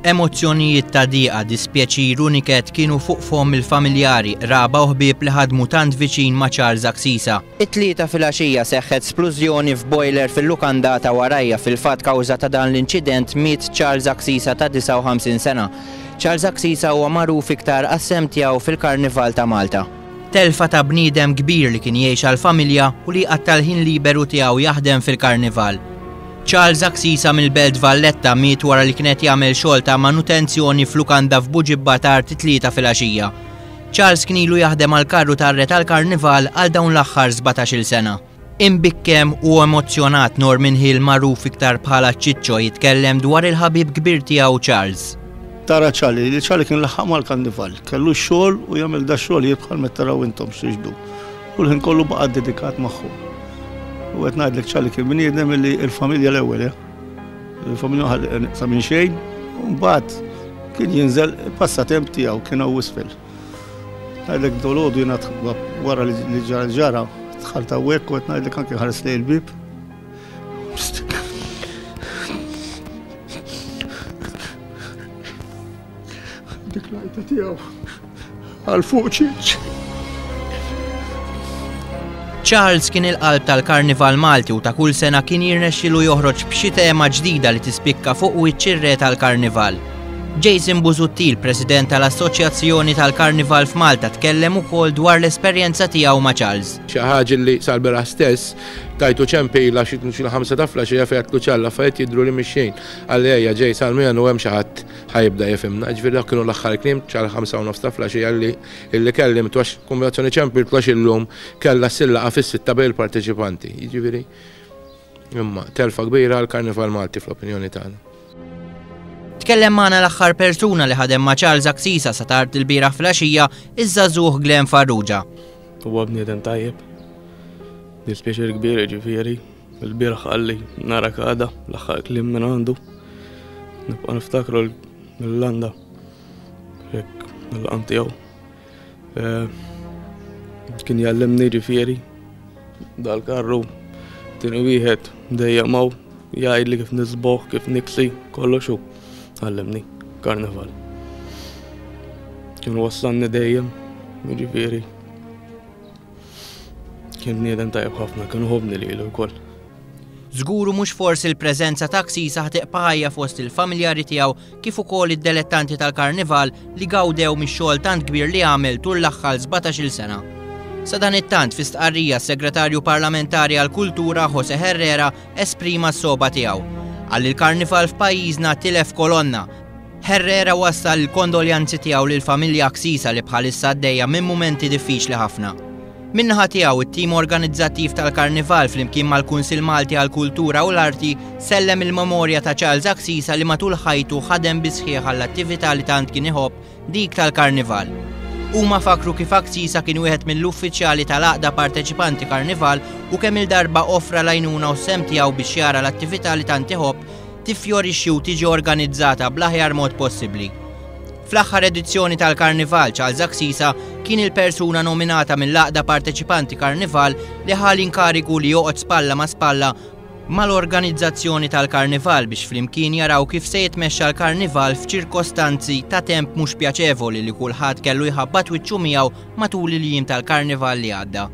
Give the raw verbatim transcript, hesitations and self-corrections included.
Emozzjonijiet ta' diqa, dispjaċir u niket kienu fuq fomm il-familjari, qraba u ħbieb li ħadmu tant viċin ma' Charles Axisa. It-Tlieta filgħaxija seħħet splużjoni f'boiler fil-lukanda ta' warajja. Fil-fatt, kawża ta' dan l-inċident miet Charles Axisa ta' disgħa u ħamsin sena. Charles Axisa huwa magħruf iktar għas-sehem tiegħu fil-Karnival ta' Malta. Telfa ta' bniedem kbir li kien jgħix għal-familja u li qatta' l-ħin liberu tiegħu jaħdem fil-Karnival. Charles Axisa mill-Belt Valletta miet wara li kienet jagħmel xogħol ta' manutenzjoni f'lukanda f'Buġibba tard it-Tlieta filgħaxija. Charles kien ilu jaħdem għal karru tar-re tal-Karnival għal dawn l-aħħar sbatax-il sena. Imbikkem u emozjonat, Norman Hill, magħruf iktar bħala Ċiċċo, jitkellem dwar il-ħabib kbir tiegħu Charles. Tara Charlie, li Charlie kien laħaq mal-karnival, kellu xogħol u jagħmel da xogħol bħal meta taraw intom x'tixdu. U l-ħin kollu baqa' dedikat magħhom. U qed ngħidlek, Charlie kien bniedem li l-familja l-ewwel, eh? Il-familja ħalli sa minn xejn, u mbagħad kien jinżel passatemp tiegħu kien hawn isfel. Ngħidlek, dalgħodu jiena wara li ġara ġara dħalt hawnhekk u qed ngħidlek anke ħares lejn il-bib. Dik l-għajta tiegħu għal fuq ċiċ. Charles kien il-qalb tal-Karnival Malti u ta' kull sena kien jirnexxilu joħroġ b'xi tema ġdida li tispikka fuq wiċċ ir-re tal-Karnival. Jason Busuttil, president tal-Assoċjazzjoni tal-Karnival f'Malta, tkellem ukoll dwar l-esperjenza tiegħu ma' Charles. Xi ħaġa li sal-bieraħ stess tajtu ċempila xi ħamsa ta' filgħaxija fejn għedtlu, "Ċalla, affarijiet jidhru li mixjin." Qalli, "Ejja ġej sal-menu, hemm xi ħadd ħa jibda jifhimna." Ġifieri dak kienu l-aħħar kliem ċal ħamsa u nofs ta' filgħaxija li illi kellimtu, għax kombinazzjoni ċempiltu għax illum kellha ssir laqgħa fis-sitta bejn il-parteċipanti. Jiġifieri imma telfa kbira għall-Karnival Malti fl-opinjoni tagħna. Tkellem magħna l-aħħar persuna li ħadem ma' Charles Axisa sa tard il-bieraħ filgħaxija, iż-żagħżugħ Glenn Farrugia. Huwa bniedem tajjeb. Dispjaċir kbir, ġifieri. Il-bieraħ qalli, "Narak għada," l-aħħar kliem minn għandu. Nibqa' niftakru mill-landa. Hekk, mill-qam tiegħu. Eh, Kien jgħallimni, ġifieri dal-karru. Tieni wieħed dejjem hawn jgħidli kif niżbogħ, kif niksi, kollox hu. Għallimni karnival. Kien wassalni dejjem, ġifieri. Kien bniedem tajjeb ħafna, kien iħobbni lilu wkoll. Żgur u mhux forsi l-preżenza ta' Axisa tibqa' ħajja fost il-familjari tiegħu kif ukoll id-delettanti tal-Karnival li gawdew mix-xogħol tant kbir li għamel tul l-aħħar sbatax-il sena. Sadanittant, fi stqarrija, segretarju parlamentari għal-kultura Jose Herrera esprima s-soba tiegħu. Qal il-Karnival f'pajjiżna tilef kolonna. Herrera wassal il-kondoljanzi tiegħu lil familja Axisa li bħalissa għaddejja minn mumenti diffiċli ħafna. Min-naħa tiegħu, it-tim organizzattiv tal-Karnival flimkien mal-Kunsil Malti għall-Kultura u l-Arti sellem il-memorja ta' Charles Axisa li matul ħajtu ħadem bis-sħiħ għall-attività li tant kien iħobb, dik tal-Karnival. Huma fakru kif Axisa kien wieħed mill-uffiċjali tal-Għaqda Parteċipanti Karnival u kemm il-darba offra l-għajnuna u s-sehem tiegħu biex jara l-attività li tant iħobb tiffjorixxi u tiġi organizzata bl-aħjar mod possibbli. Fl-aħħar edizzjoni tal-Karnival, Charles Axisa kien il-persuna nominata mill-Għaqda Parteċipanti Karnival li ħa l-inkarigu li joqgħod spalla ma' spalla mal-organizzazzjoni tal-Karnival biex flimkien jaraw kif se jitmexxa l-Karnival f'ċirkostanzi ta' temp mhux pjaċevoli li kulħadd kellu jħabbat wiċċu miegħu matul il-jiem tal-Karnival li għadda.